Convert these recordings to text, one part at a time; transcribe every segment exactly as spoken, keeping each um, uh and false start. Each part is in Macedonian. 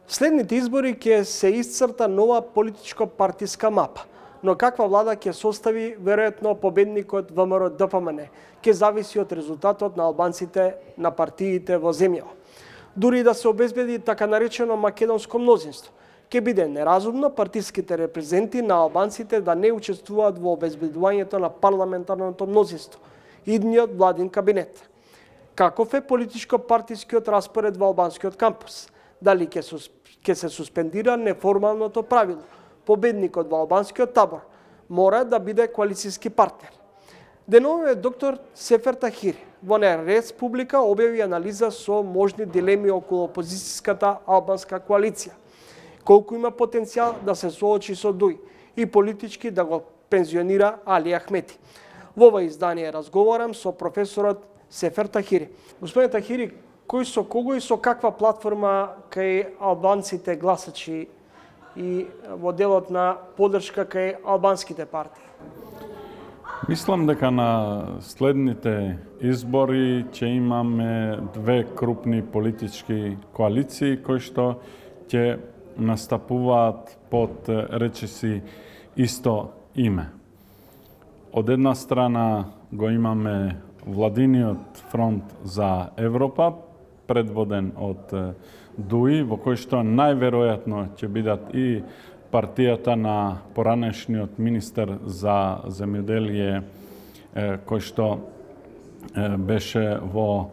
Следните избори ќе се исцрта нова политичко-партиска мапа, но каква влада ќе состави веројатно победникот ВМРО-ДПМН ќе зависи од резултатот на албанците на партиите во земјава. Дури да се обезбеди така наречено македонско мнозинство, ќе биде неразумно партиските репрезенти на албанците да не учествуваат во обезбедувањето на парламентарното мнозинство, идниот владин кабинет. Каков е политичко-партискиот распоред во албанскиот кампус? Дали ќе ќе се суспендира неформалното правило? Победникот во албанскиот табор мора да биде коалицијски партнер. Денове доктор Сефер Тахири во Нерес публика објави анализа со можни дилеми околу опозицијската албанска коалиција. Колку има потенцијал да се соочи со Дуј и политички да го пензионира Али Ахмети. Во ова издание разговарам со професорот Сефер Тахири. Господин Тахири, кој со кого и со каква платформа кај албанците гласачи и во делот на поддршка кај албанските партии? Мислам дека на следните избори ќе имаме две крупни политички коалиции кои што ќе настапуваат под речиси исто име. Од една страна го имаме Владиниот фронт за Европа, предводен од Дуј, во кој што најверојатно ќе бидат и партијата на поранешниот министер за земјоделие, кој што беше во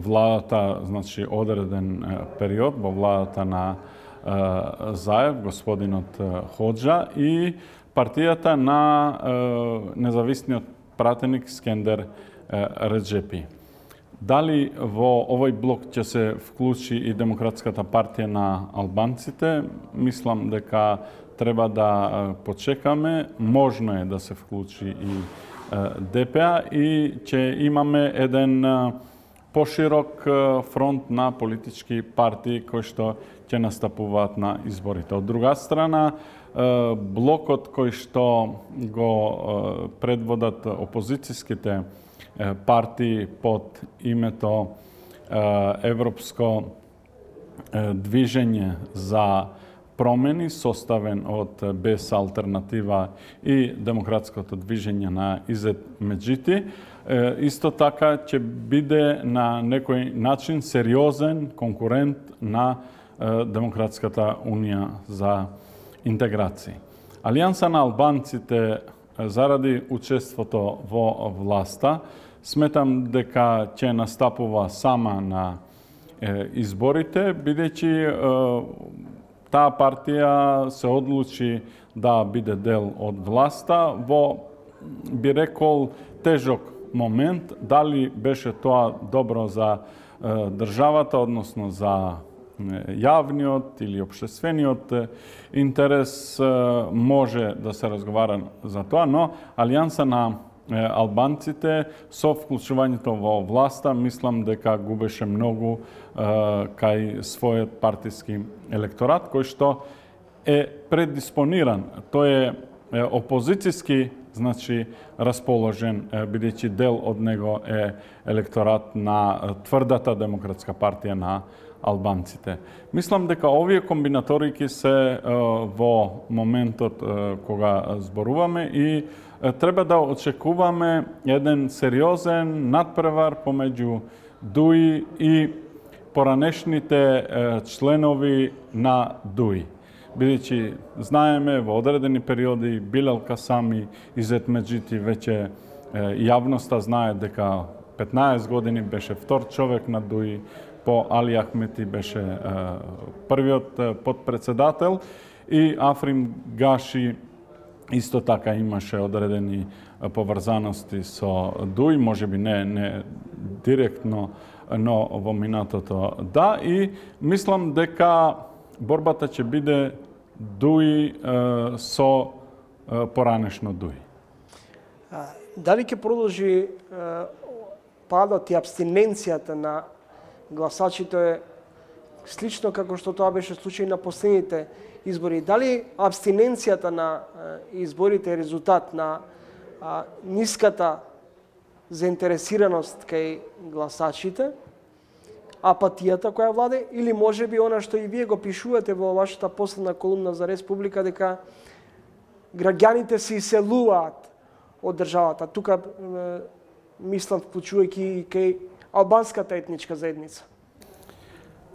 владата, значи одреден период, во владата на Заев, господинот Хоџа, и партијата на независниот пратеник Скендер Реджепи. Дали во овој блок ќе се вклучи и Демократската партија на албанците, мислам дека треба да почекаме, можно е да се вклучи и ДПА и ќе имаме еден поширок фронт на политички партии кои што ќе настапуваат на изборите. Од друга страна, блокот кој што го предводат опозицијските партии под името Европско движење за промени, составен од Без алтернатива и Демократското движење на Изет Меджити, исто така ќе биде на некој начин сериозен конкурент на Демократската унија за интеграција. Алијанса на албанците заради учеството во власта, сметам дека ќе настапува сама на изборите, бидејќи таа партија се одлучи да биде дел од власта во, би рекол, тежок момент. Дали беше тоа добро за државата, односно за јавниот или општествениот интерес, може да се разговара за тоа, но Алијанса на албанците со вклучувањето во власта, мислам дека губеше многу кај својот партиски електорат, кој што е предиспониран. Тој е опозицијски, значи расположен, бидејќи дел од него е електорат на тврдата Демократска партија на албанците. Мислам дека овие комбинаторики се во моментот кога зборуваме и треба да очекуваме еден сериозен надпревар помеѓу Дуј и поранешните членови на Дуј. Бидејќи знаеме во одредени периоди Билал Касами, Изет Меджити, веќе јавноста знае дека петнаесет години беше втор човек на Дуј, по Али Ахмети беше првиот подпредседател и Африм Гаши исто така имаше одредени поврзаности со Дуј, можеби не, не директно, но во минатото да, и мислам дека борбата ќе биде Дуј со поранешно Дуј. Дали ќе продолжи падот и абстиненцијата на гласачите слично како што тоа беше случај на последните избори? Дали абстиненцијата на изборите е резултат на ниската заинтересираност кај гласачите, апатијата која владе, или може би она што и вие го пишувате во вашата последна колумна за Республика, дека граѓаните се иселуваат од државата. Тука е, мислам вклучувајќи и кај албанската етничка заедница.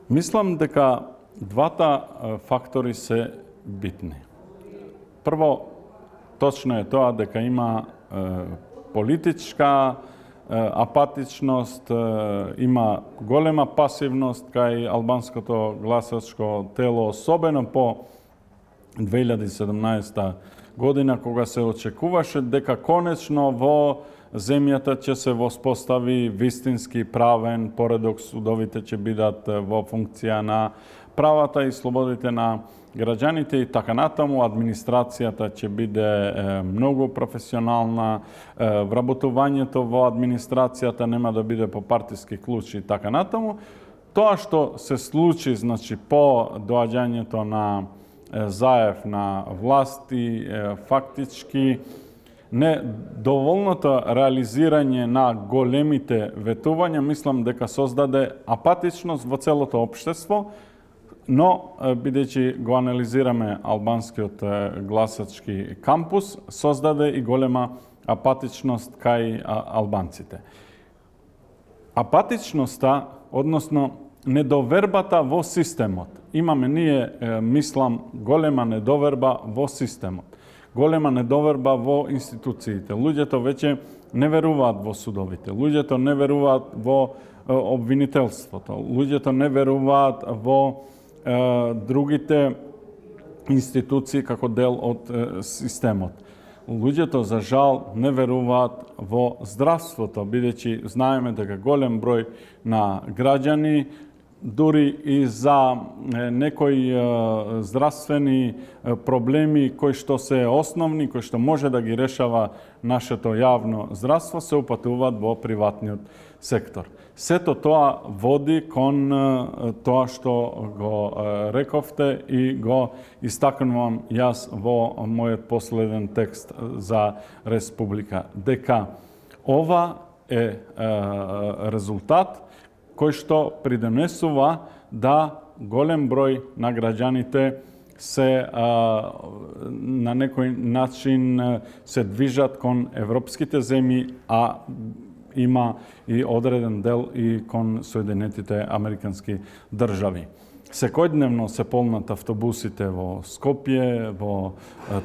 Мислам дека двата фактори се битни. Прво, точно е тоа дека има е, политичка апатичност, има голема пасивност кај албанското гласачко тело, особено по две илјади и седумнаесета година, кога се очекуваше дека конечно во земјата ќе се воспостави вистински правен поредок, судовите ќе бидат во функција на правата и слободите на граѓаните и така натаму, администрацијата ќе биде е, многу професионална, е, вработувањето во администрацијата нема да биде по партиски клучи и така натаму. Тоа што се случи, значи, по доаѓањето на е, Заев на власти, е, фактички недоволното реализирање на големите ветувања, мислам дека создаде апатичност во целото општество, но, бидејќи го анализираме албанскиот гласачки кампус, создаде и голема апатичност кај албанците. Апатичноста, односно недовербата во системот. Имаме ние, мислам, голема недоверба во системот. Голема недоверба во институциите. Луѓето веќе не веруваат во судовите. Луѓето не веруваат во обвинителството. Луѓето не веруваат во другите институции како дел од системот. Луѓето, за жал, не веруваат во здравството, бидејќи знаеме дека голем број на граѓани, дури и за некои здравствени проблеми кои што се основни, кои што може да ги решава нашето јавно здравство, се упатуваат во приватниот сектор. Сето тоа води кон тоа што го рековте и го истакнувам јас во мојот последен текст за Республика. Дека ова е резултат кој што придонесува да голем број на граѓаните се а, на некој начин се движат кон европските земји, а има и одреден дел и кон Соединетите Американски држави. Секојдневно се полнат автобусите во Скопје, во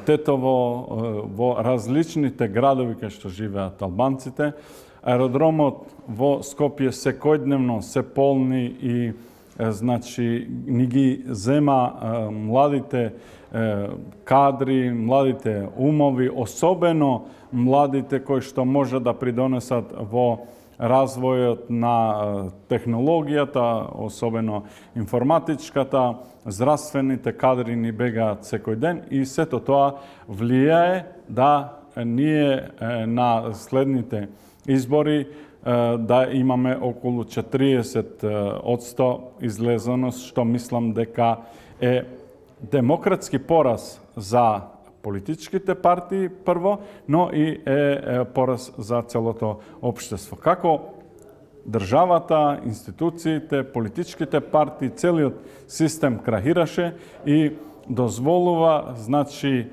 Тетово, во различните градови кај што живеат албанците. Аеродромот во Скопје секојдневно се полни и значи ни ги зема е, младите е, кадри, младите умови, особено младите кои што може да придонесат во развојот на технологијата, особено информатичката, здравствените кадри ни бегаат секој ден и сето тоа влијае да ние на следните избори да имаме околу четириесет одсто излезеност, што мислам дека е демократски пораз за политичките партии прво, но и е пораз за целото општество. Како државата, институциите, политичките партии, целиот систем крахираше и дозволува, значи,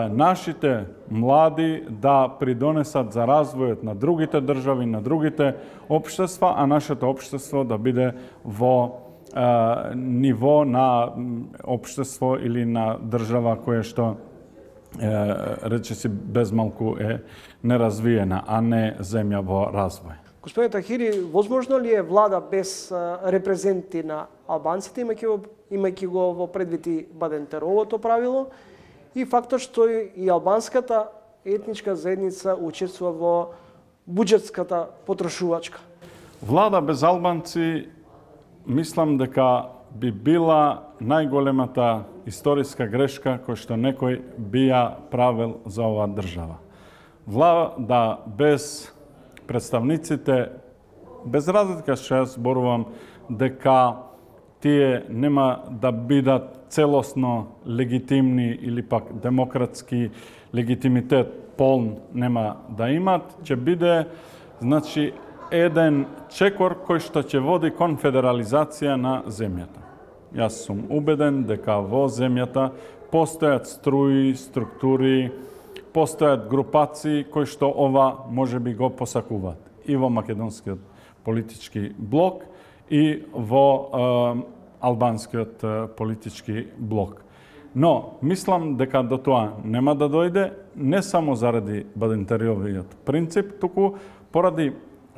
нашите млади да придонесат за развојот на другите држави, на другите општества, а нашето општество да биде во а, ниво на општество или на држава која што речиси безмалку е неразвиена, а не земја во развој. Господине Тахири, возможно ли е влада без репрезенти на албанците, имајќи го, имајќи го во предвид и Бадентеровото правило, и фактот што и албанската етничка заедница учествува во буџетската потрошувачка? Влада без албанци, мислам дека би била најголемата историска грешка која што некој би ја правил за оваа држава. Влада без представниците, без разлика што јас зборувам дека тие нема да бидат целосно легитимни или пак демократски легитимитет полн нема да имат, ќе биде, значи, еден чекор кој што ќе води кон федерализација на земјата. Јас сум убеден дека во земјата постојат струи, структури, постојат групации кои што ова може би го посакуваат и во македонскиот политички блок и во е, албанскиот е, политички блок. Но, мислам дека до тоа нема да дојде, не само заради Бадинтериовиот принцип, туку поради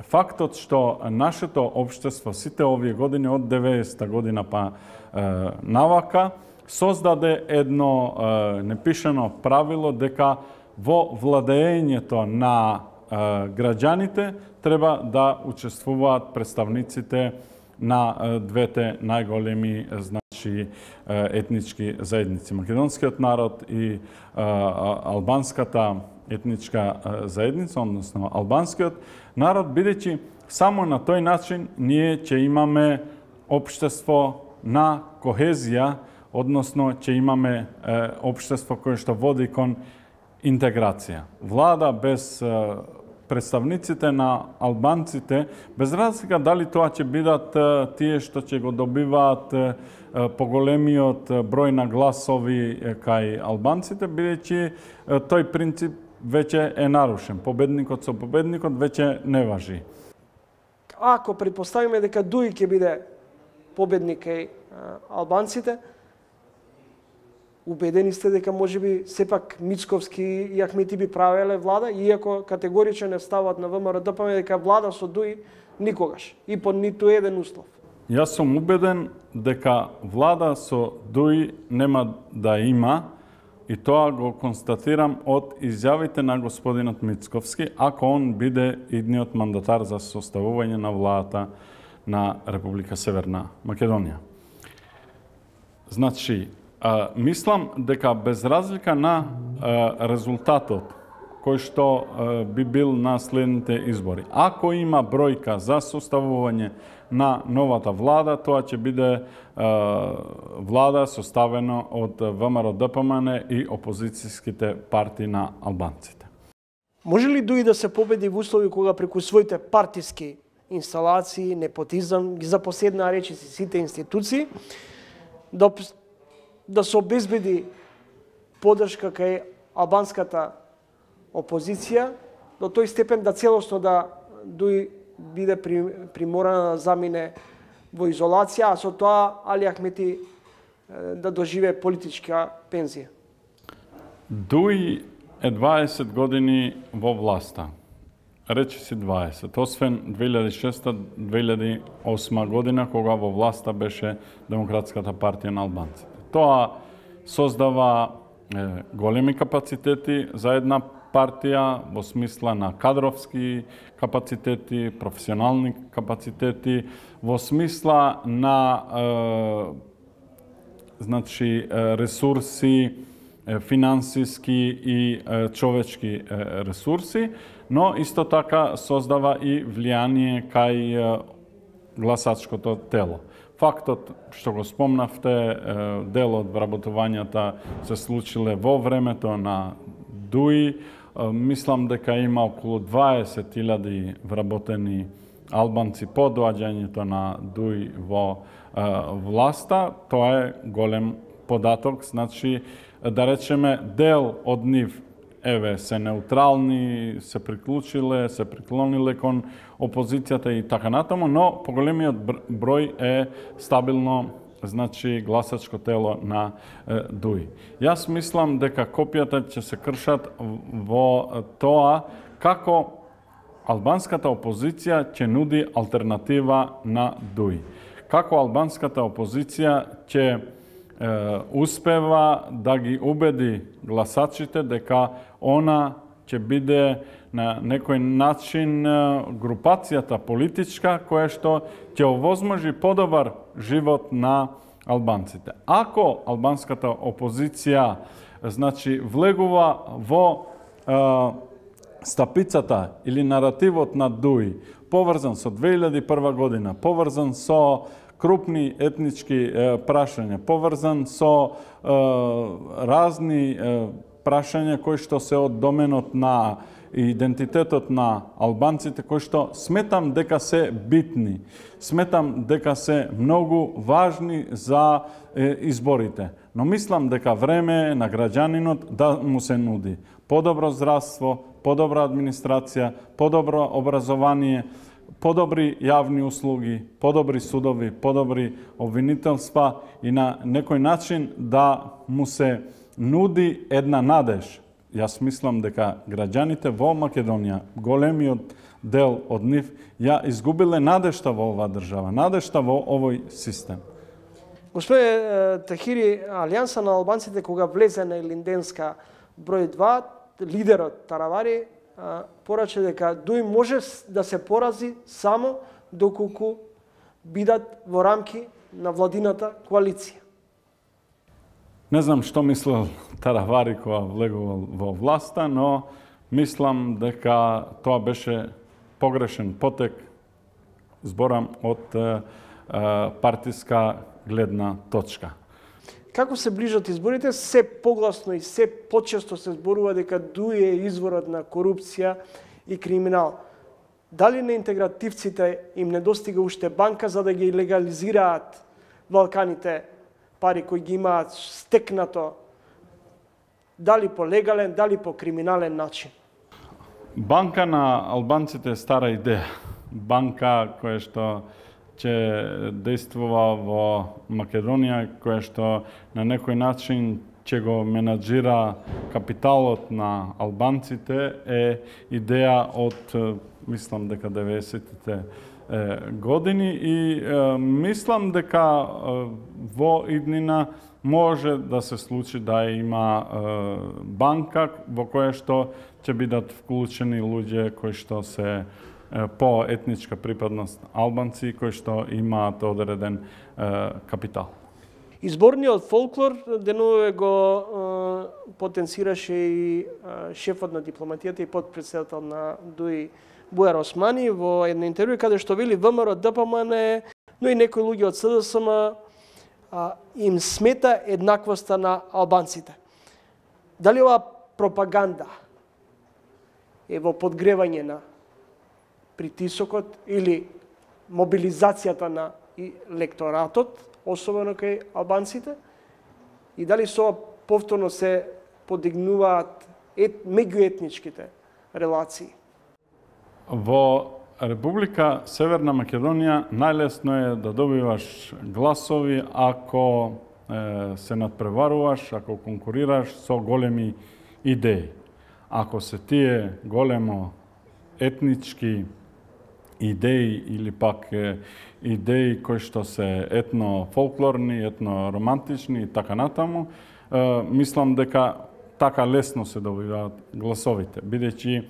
фактот што нашето општество сите овие години од деветдесета година па е, навака создаде едно е, непишано правило дека во владеењето на е, граѓаните треба да учествуваат представниците на е, двете најголеми значи етнички заедници. Македонскиот народ и е, албанската етничка заедница, односно албанскиот народ, бидејќи само на тој начин ние ќе имаме општество на кохезија, односно ќе имаме е, општество кое што води кон интеграција. Влада без е, представниците на албанците, без разлика дали тоа ќе бидат е, тие што ќе го добиваат е, поголемиот број на гласови е, кај албанците, бидејќи е, тој принцип веќе е нарушен. Победникот со победникот веќе не важи. Ако предпоставиме дека Дуи ќе биде победник кај албанците, убедени сте дека можеби сепак Мицковски и Ахмети би правеле влада, иако категорично не стават на ВМРО-ДПМ дека влада со Дуи никогаш и под ниту еден услов. Јас сум убеден дека влада со Дуи нема да има, и тоа го констатирам од изјавите на господинот Мицковски, ако он биде идниот мандатар за составување на владата на Република Северна Македонија. Значи, а, мислам дека без разлика на а, резултатот кој што а, би бил на следните избори, ако има бројка за составување на новата влада, тоа ќе биде е, влада составена од ВМРО-ДПМН и опозицијските партии на албанците. Може ли Дуи да се победи во услови кога преку своите партиски инсталации, непотизам, ги запоседнаа речиси сите институции, да, да се обезбеди поддршка кај албанската опозиција, до тој степен да целосно да Дуи биде приморана да замине во изолација, а со тоа Али Ахмети да доживее политичка пензија? Дуи е дваесет години во власта. Речи си дваесет, освен две илјади и шеста - две илјади и осма година, кога во власта беше Демократската партија на албанците. Тоа создава е, големи капацитети за една партија во смисла на кадровски капацитети, професионални капацитети, во смисла на е, значи ресурси, финансиски и е, човечки е, ресурси, но исто така создава и влијание кај е, гласачкото тело. Фактот што го спомнавте, е, дел од вработувањата се случиле во времето на Дуи. Мислам дека има околу дваесет илјади вработени албанци по доаѓањето на Дуи во е, власта. Тоа е голем податок, значи да речеме дел од нив еве се неутрални, се приклучиле, се приклониле кон опозицијата и така натаму, но поголемиот број е стабилно, значи гласачко тело на е, Дуи. Јас мислам дека копијата ќе се кршат во тоа како албанската опозиција ќе нуди алтернатива на Дуи. Како албанската опозиција ќе е, успева да ги убеди гласачите дека она ќе биде на некој начин групацијата политичка која што ќе овозможи подобар живот на албанците. Ако албанската опозиција значи влегува во е, стапицата или наративот на Дуи, поврзан со две илјади и прва година, поврзан со крупни етнички е, прашања, поврзан со е, разни е, прашања кои што се од доменот на идентитетот на албанците, кои што сметам дека се битни, сметам дека се многу важни за е, изборите. Но мислам дека време е на граѓанинот да му се нуди подобро здравство, подобра администрација, подобро образование, подобри јавни услуги, подобри судови, подобри обвинителства и на некој начин да му се нуди една надеж. Јас мислам дека граѓаните во Македонија, големиот дел од нив, ја изгубиле надежта во оваа држава, надежта во овој систем. Господе Тахири, Алијанса на албанците кога влезе на Илинденска број два, лидерот Таравари порача дека Дуи може да се порази само доколку бидат во рамки на владината коалиција. Не знам што мислел Таравари кога влегувал во власта, но мислам дека тоа беше погрешен потек, зборам од е, партиска гледна точка. Како се ближат изборите, се погласно и се почесто се зборува дека Дуи е изворот на корупција и криминал. Дали на интегративците им недостига уште банка за да ги легализираат Балканите пари кои ги имаат стекнато, дали по легален, дали по криминален начин? Банка на албанците е стара идеја. Банка која што ќе действува во Македонија, која што на некој начин ќе го менаџира капиталот на албанците, е идеја од, мислам дека деветдесетите години и е, мислам дека е, во иднина може да се случи да има е, банка во која што ќе бидат вклучени луѓе кои што се е, по етничка припадност албанци, кои што имаат одреден е, капитал. Изборниот фолклор денове го е, потенцираше и е, шефот на дипломатијата и подпредседател на Дуи Бујар Османи во едно интервју каде што вели ВМРО ДПМН, но и некои луѓе од СДСМ а, им смета еднаквоста на албанците. Дали ова пропаганда е во подгревање на притисокот или мобилизацијата на електоратот, особено кај албанците, и дали со повторно се подигнуваат ет, меѓуетничките релации? Во Република Северна Македонија најлесно е да добиваш гласови ако е, се надпреваруваш, ако конкурираш со големи идеи. Ако се тие големо етнички идеи или пак е, идеи кои што се етно-фолклорни, етно-романтични и така натаму, е, мислам дека така лесно се добиваат гласовите, бидејќи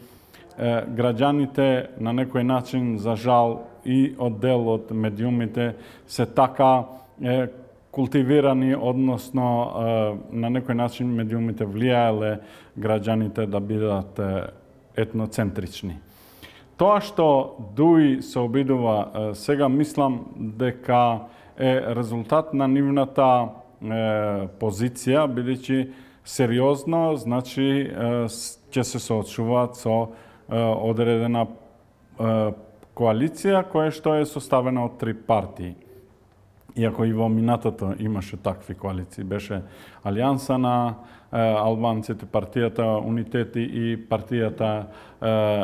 граѓаните на некој начин, за жал, и од дел од медиумите се така е, култивирани, односно е, на некој начин медиумите влијаеле граѓаните да бидат е, етноцентрични. Тоа што Дуи се обидува е, сега, мислам дека е резултат на нивната е, позиција, бидејќи сериозно, значи, е, ќе се соочуваат со одредена коалиција која што е составена од три партии. Иако и во минатото имаше такви коалиции, беше Алијанса на албанците, партијата Унитети и партијата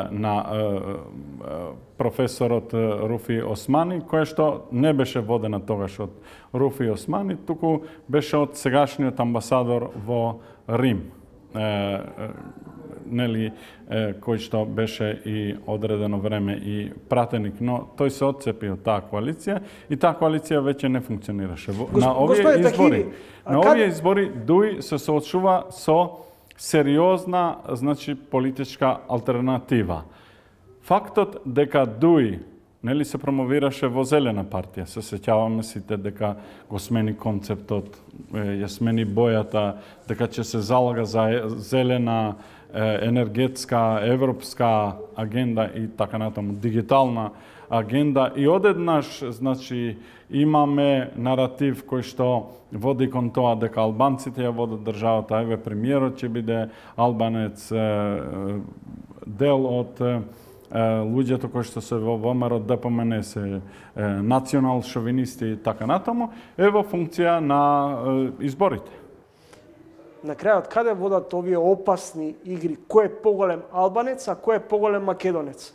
на професорот Руфи Османи, која што не беше водена тогаш од Руфи Османи, туку беше од сегашниот амбасадор во Рим, нели, кој што беше и одредено време и пратеник, но тој се отцепи од таа коалиција и таа коалиција веќе не функционираше. На овие избори, на овие избори Дуи се соочува со сериозна, значи, политичка алтернатива. Фактот дека Дуи, нели, се промовираше во Зелена партија, се сеќаваме сите дека го смени концептот, ја смени бојата, дека ќе се залага за зелена енергетска, европска агенда и така натаму, дигитална агенда, и одеднаш, значи, имаме наратив кој што води кон тоа дека албанците ја водат државата, еве премиерот ќе биде албанец, дел од е, луѓето кои што се во ВМРО Д П М Н се национал шовинисти и така натаму, е во функција на е, изборите. На крајот, каде водат овие опасни игри? Кој е поголем албанец, а кој е поголем македонец?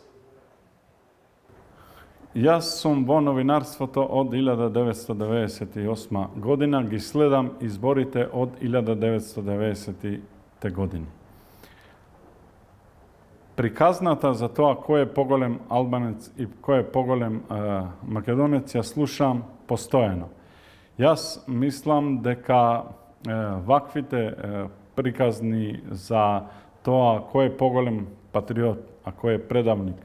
Јас сум во новинарството од илјада деветстотини деветдесет и осма година, ги следам изборите од илјада деветстотини деветдесетите години. Приказната за тоа кој е поголем албанец и кој е поголем е, македонец ја слушам постојано. Јас мислам дека е, ваквите е, приказни за тоа кој е поголем патриот, а кој е предавник,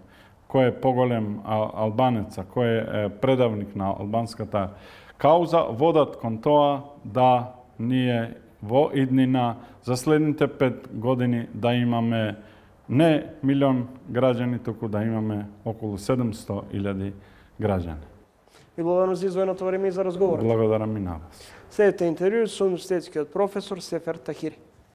кој е поголем албанец, а кој е предавник на албанската кауза, водат кон тоа да ние во иднина за следните пет години да имаме не милион граѓани, туку да имаме околу седумсто илјади граѓани. Ви благодарам за издвоеното време и за разговор. Благодарам и на вас. Следете интервју со универзитетскиот професор Сефер Тахири.